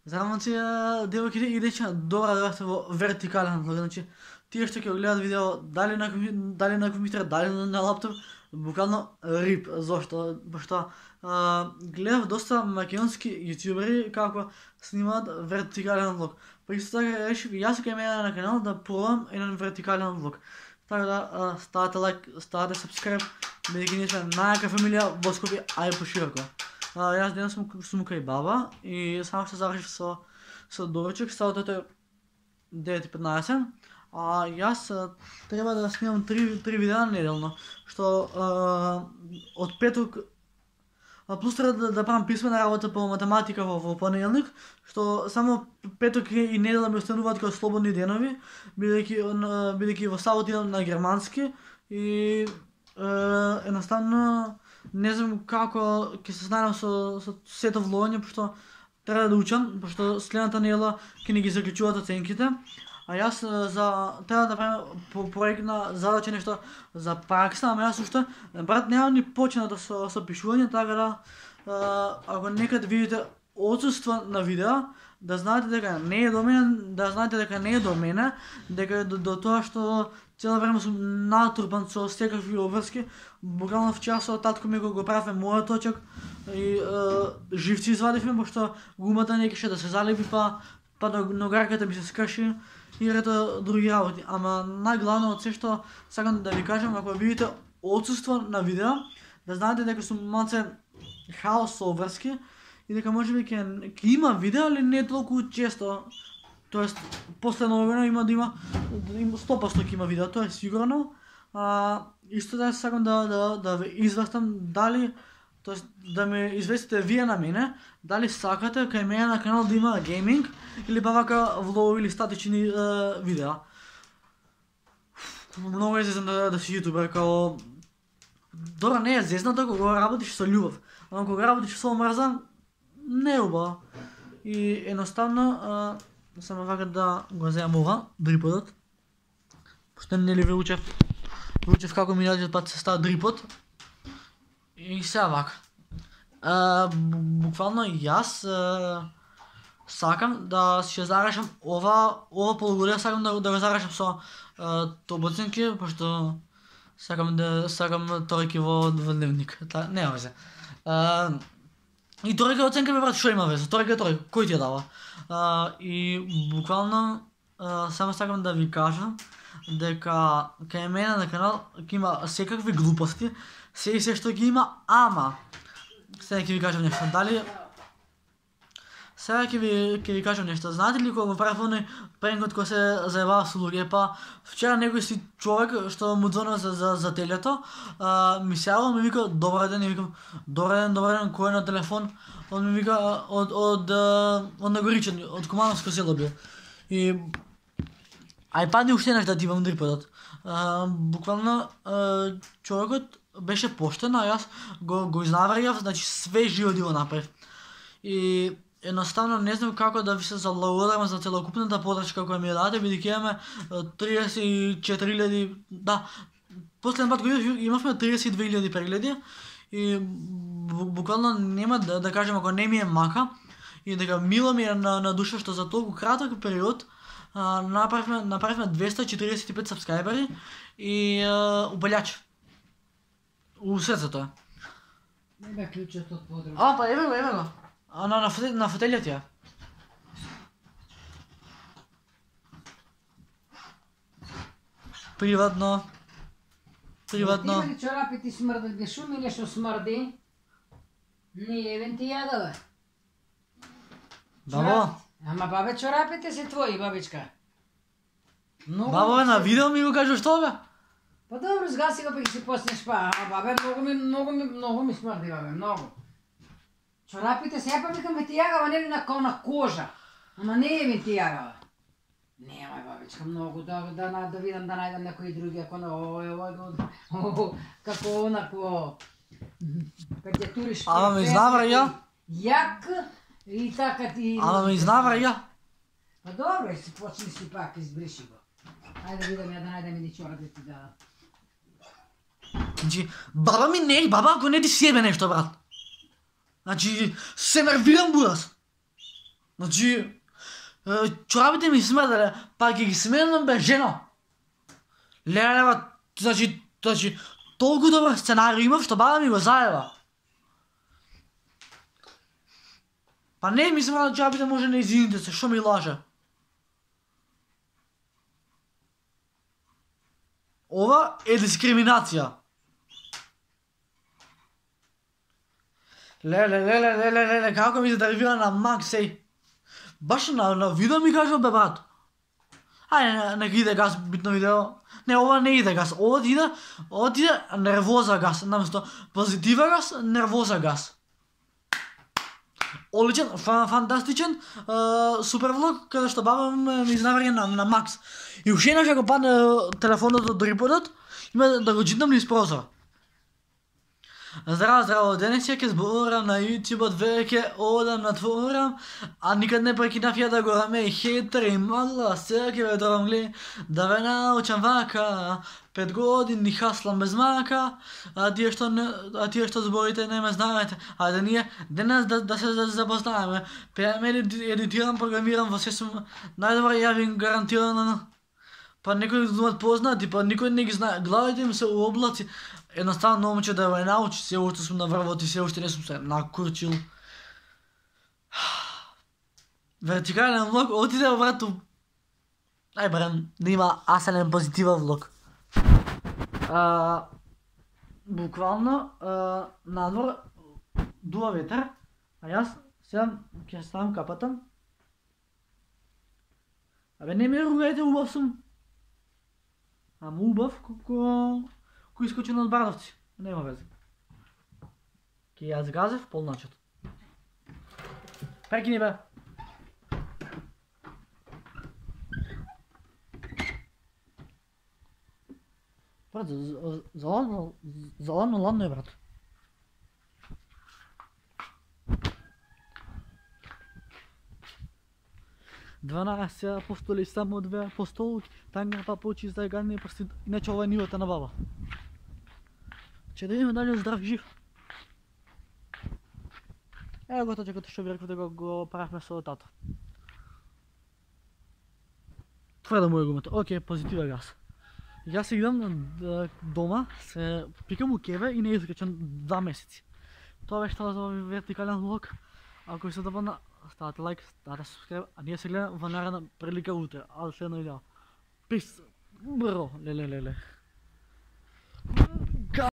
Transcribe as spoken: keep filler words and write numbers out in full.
Зарано ти девојките и дечиња добра да бевте во вертикален влог, значи тие што ќе го гледат видео дали на дали на компјутер, дали на лаптоп, буквално рип. Зошто? Пошто гледав доста македонски јутјубери како снимаат вертикален влог. Па исто така решив и јас кај мене на канал да пробам еден вертикален влог. Така да ставате лайк, ставате сабскрайб, бидејќи ние сме најака фамилија во Скопје, а и пошироко. Јас денес сум сум кај баба и само што завршив со со доручок, саботата е девет и петнаесет. А јас треба да снимам три три видеа неделно, што од петок плюс треба да, да правам писмена работа по математика во, во понеделник, што само петок и недела ми остануваат како слободни денови, бидејќи бидејќи во сабота идам на германски и едноставно не знам како ќе се снајдам со со сето влогање, пошто треба да учам, пошто следната недела ќе ни ги заклучуваат оценките. А јас за треба да правам проект на задача нешто за пракса, ама јас уште брат немам ни почнато со со пишување, така да ако некад видите отсуство на видео, да знаете дека не е до мене, да знаете дека не е до мене, дека е до, до тоа што цело време сум натрупан со секакви обврски. Буквално вчера со татко ми го, го правевме мојот точок и е, живци извадивме, пошто гумата не кеше да се залеби, па па ногарката ми се скрши и рето други работи. Ама најглавно од се што сакам да ви кажам, ако видите отсуство на видео, да знаете дека сум малце хаос со обврски и дека можеби ќе ќе има видео, али не толку често. Тоест последно време има да има има сто проценти ќе има видео, тоа е сигурно. А исто така сакам да да да ве известам дали, тоест да ме известите вие на мене, дали сакате кај мене на канал да има гейминг или па вака влогови или статични е, видеа. Многу е зезен да, да си јутубер, као добро не е зезнато кога работиш со љубов, ама кога работиш со мрза не е убаво. И едноставно е, само вака да го земам ова, дриподот. Пошто не ли ве учев, ве учев како минатиот пат се става дрипод. И сега вака. Uh, буквално јас uh, сакам да си зарашам ова ова полугодие, сакам да, да го зарашам со uh, тобоцинки, пошто сакам да сакам тројки во, во дневник. Та, нема везе. Uh, и тројка оценка ме брат, што има везе? Тројка е тројка, кој ти ја дава? Uh, и буквално uh, само сакам да ви кажам дека кај мене на канал ќе има секакви глупости, се и се што ги има, ама сега ќе ви кажам нешто. Дали сега ќе ви ќе ви кажам нешто. Знаете ли кога го правев оној пренкот кој се заебава со луѓе, па вчера некој си човек што му звонува за за, за телето, а, ми се јавува, ми вика добар ден, и викам добар ден, добар ден, кој е на телефон? Он ми вика од од од Нагоричен, од Кумановско село бил. И ај падни уште еднаш да ти имам дриподот. Буквално а, човекот беше поштен, а јас го, го изнаварјав, значи све живо да го направив. И едноставно не знам како да ви се заблагодарам за целокупната подршка која ми ја дадете, бидејќи имаме триесет и четири илјади, да, последен пат го имавме триесет и две илјади прегледи и буквално нема да, да кажем ако не ми е мака и дека мило ми е на, на душа што за толку краток период а, направивме, направивме двеста и четиридесет и пет сабскрајбери и а, убављач. У срцето е. Не бе клучот од подроб. А, па еве го, еве го. А на на, фотел, на фотелјот ја. Приватно. Приватно. Има ли чорапи ти смрдат, бе шуми нешто смрди? Не евен ти јада, бе. Бабо. Ама бабе, чорапите се твои, бабичка. Многу Бабо, на видео ми го кажеш што бе? Па добро, згаси го па ќе си поснеш па. А бабе, многу ми, многу ми, многу ми смрди, бабе, многу. Чорапите се па викам ти јагава, нели на кона кожа. Ама не е ми ти јагава. Нема, бабичка, многу да да да, да видам да најдам некои други ако на овој овој како онако кога ќе туриш. Ама ме изнавра ја. Јак и така ти. Ама ме изнавра ја. Па добро, си почни си пак избриши го. Ајде да видам ја да најдем и чорапи ти да. Значи, баба ми не, баба ако не ти себе нешто, брат. Значи, се нервирам, будас. Значи, чорапите ми смрделе, па ќе ги сменам бе жено. Леле, ба, значи, значи, толку добар сценариј имав, што баба ми го заева. Па не ми смрделе чорапите, може не извините се, што ми лаже. Ова е дискриминација. Леле, леле, леле, леле, како ми се дервира на Макс, еј. Баш на, на видео ми кажа, бе, брат. Ајде, нека иде газ, битно видео. Не, ова не иде газ, ова ти иде, ова ти иде нервоза газ, наместо позитива газ, нервоза газ. Оличен, фан, фантастичен, uh, супер влог, каде што баба ми изнавари на, на Макс. И уште еднаш ако падне телефонот од риподот, има да го читам низ прозор. Здраво, здраво, денес ќе зборам на YouTube-от, веќе одам на творам, а никад не прекинав ја да го раме и хейтери, магла, сега ќе ве дорам гле, да ве научам вака, пет години хаслам без мака, а тие што не, а тие што зборите не ме знаете, а да ние денес да, да се запознаеме, пееме, едитирам, програмирам, во се сум најдобар, ја ви гарантирано, па некои думат познати, па никој не ги знае, главите им се у облаци. Едноставно момче да ме научи, се уште сум на врвот и се уште не сум се накурчил. Вертикален влог, отиде во врату. Ај барем, да има аселен позитивен влог. А, буквално, а, надвор дува ветер, а јас сега ќе ставам капата. Абе не ме ругајте, убав сум. Ама убав, колко... кој искочен од Бардовци, нема везе. Ке ја згазев полначот. Прекини бе. Брат, заладно, заладно ладно е, брат. дванаесет апостоли, само две апостолки, танга папучи, загадни прсти, иначе ова е нивата на баба. Че да видиме дали здрав и жив. Ево го точката што ви реков да го, го правихме со тато. Това е да му е гумето. Окей, позитива газ. Јас се идам дома, се пикам у кеве и не изкачам два месеци. Тоа беше тоа за овој вертикален влог. Ако ви се допадна, ставате лайк, ставате субскрайб, а ние се гледаме во наредна прилика утре. А следно видео. Пис! Бро! Леле, леле.